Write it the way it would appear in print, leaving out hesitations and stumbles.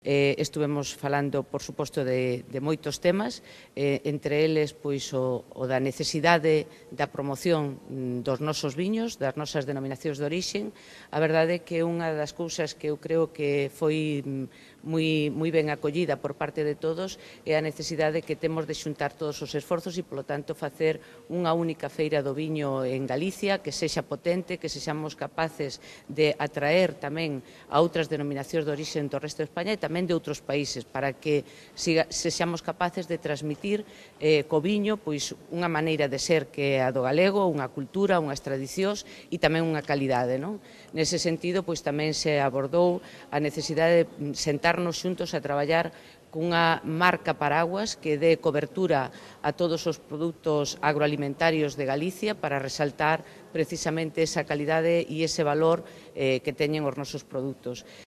Estuvemos falando, por suposto, de moitos temas, entre eles pois, o da necesidade da promoción dos nosos viños, das nosas denominacións de orixen. A verdade é que unha das cousas que eu creo que foi moi ben acollida por parte de todos é a necesidade que temos de xuntar todos os esforzos e, polo tanto, facer unha única feira do viño en Galicia que sexa potente, que sexamos capaces de atraer tamén a outras denominacións de orixen do resto de España e tamén de outros países, para que sexamos capaces de transmitir co viño pois unha maneira de ser que é a do galego, unha cultura, unhas tradicións e tamén unha calidade, non? Nese sentido, pois tamén se abordou a necesidade de sentarnos xuntos a traballar cunha marca paraguas que dé cobertura a todos os produtos agroalimentarios de Galicia para resaltar precisamente esa calidade e ese valor que teñen os nosos produtos.